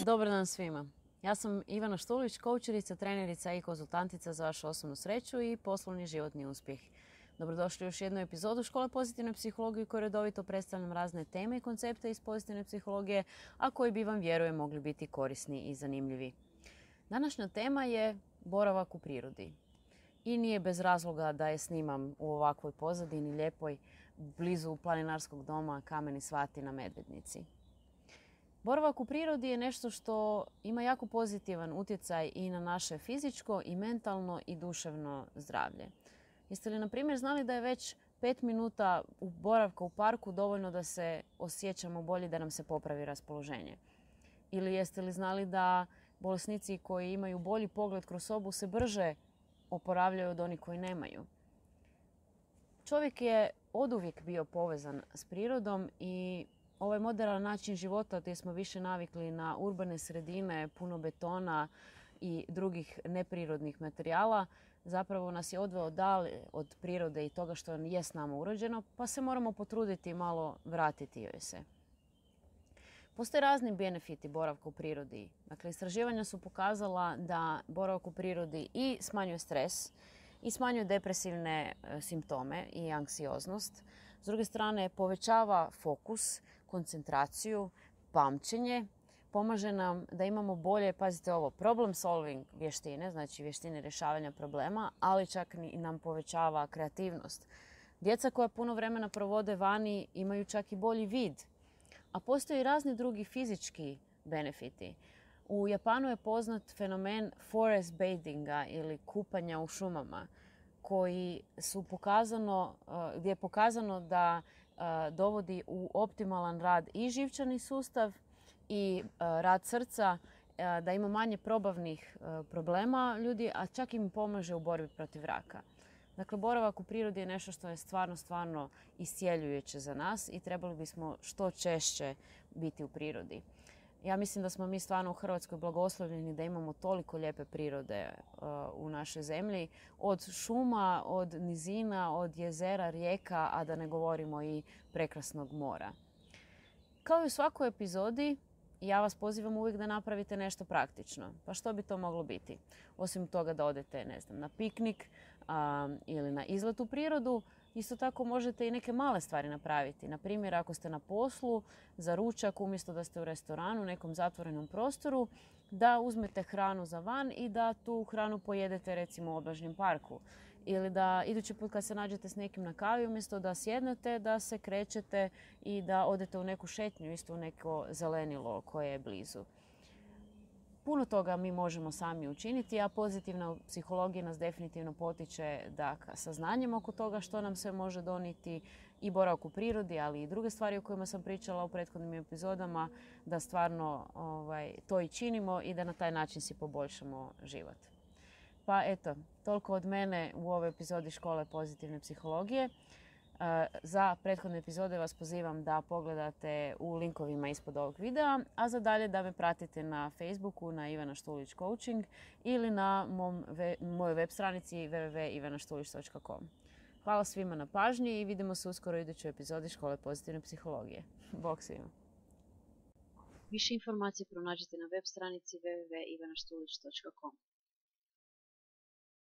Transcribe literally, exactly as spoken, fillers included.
Dobar dan svima. Ja sam Ivana Štulić, koučerica, trenerica i konzultantica za vašu osobnu sreću i poslovni životni uspjeh. Dobrodošli u još jednu epizodu Škole pozitivne psihologije u kojoj redovito predstavljam razne teme i koncepte iz pozitivne psihologije, a koji bi vam, vjerujem, mogli biti korisni i zanimljivi. Današnja tema je boravak u prirodi. I nije bez razloga da je snimam u ovakvoj pozadini lijepoj, blizu planinarskog doma Kameni Svati na Medvednici. Boravak u prirodi je nešto što ima jako pozitivan utjecaj i na naše fizičko i mentalno i duševno zdravlje. Jeste li, na primjer, znali da je već pet minuta boravka u parku dovoljno da se osjećamo bolje, da nam se popravi raspoloženje? Ili jeste li znali da bolesnici koji imaju bolji pogled kroz sobu se brže oporavljaju od onih koji nemaju? Čovjek je oduvijek bio povezan s prirodom i ovaj moderan način života gdje smo više navikli na urbane sredine, puno betona i drugih neprirodnih materijala, zapravo nas je odveo dalje od prirode i toga što je s nama urođeno, pa se moramo potruditi malo vratiti joj se. Postoje razni benefiti boravka u prirodi. Dakle, istraživanja su pokazala da boravak u prirodi i smanjuje stres, i smanjuje depresivne simptome i anksioznost. S druge strane, povećava fokus, koncentraciju, pamćenje, pomaže nam da imamo bolje, pazite ovo, problem solving vještine, znači vještine rješavanja problema, ali čak i nam povećava kreativnost. Djeca koja puno vremena provode vani imaju čak i bolji vid, a postoje i razni drugi fizički benefiti. U Japanu je poznat fenomen forest bathinga ili kupanja u šumama, koji su pokazano, gdje je pokazano da dovodi u optimalan rad i živčani sustav i rad srca, da ima manje probavnih problema ljudi, a čak im pomaže u borbi protiv raka. Dakle, boravak u prirodi je nešto što je stvarno, stvarno iscjeljujuće za nas i trebali bismo što češće biti u prirodi. Ja mislim da smo mi stvarno u Hrvatskoj blagoslovljeni da imamo toliko lijepe prirode uh, u našoj zemlji. Od šuma, od nizina, od jezera, rijeka, a da ne govorimo i prekrasnog mora. Kao i u svakoj epizodi, ja vas pozivam uvijek da napravite nešto praktično. Pa što bi to moglo biti? Osim toga da odete, ne znam, na piknik uh, ili na izlet u prirodu, isto tako možete i neke male stvari napraviti. Na primjer, ako ste na poslu za ručak, umjesto da ste u restoranu, u nekom zatvorenom prostoru, da uzmete hranu za van i da tu hranu pojedete recimo u obližnjem parku. Ili da idući put kad se nađete s nekim na kavi, umjesto da sjednete, da se krećete i da odete u neku šetnju, isto u neko zelenilo koje je blizu. Puno toga mi možemo sami učiniti, a pozitivna psihologija nas definitivno potiče da saznanjem oko toga što nam se može donijeti i boravak u prirodi, ali i druge stvari o kojima sam pričala u prethodnim epizodama, da stvarno ovaj, to i činimo i da na taj način si poboljšamo život. Pa eto, toliko od mene u ovoj epizodi Škole pozitivne psihologije. Za prethodne epizode vas pozivam da pogledate u linkovima ispod ovog videa, a za dalje da me pratite na Facebooku na Ivana Štulić Coaching ili na mom, mojoj web stranici w w w dot ivana štulić dot com. Hvala svima na pažnji i vidimo se uskoro u idućoj epizodi Škole pozitivne psihologije. Bog svima! Više informacije pronađite na web stranici w w w dot ivana štulić dot com.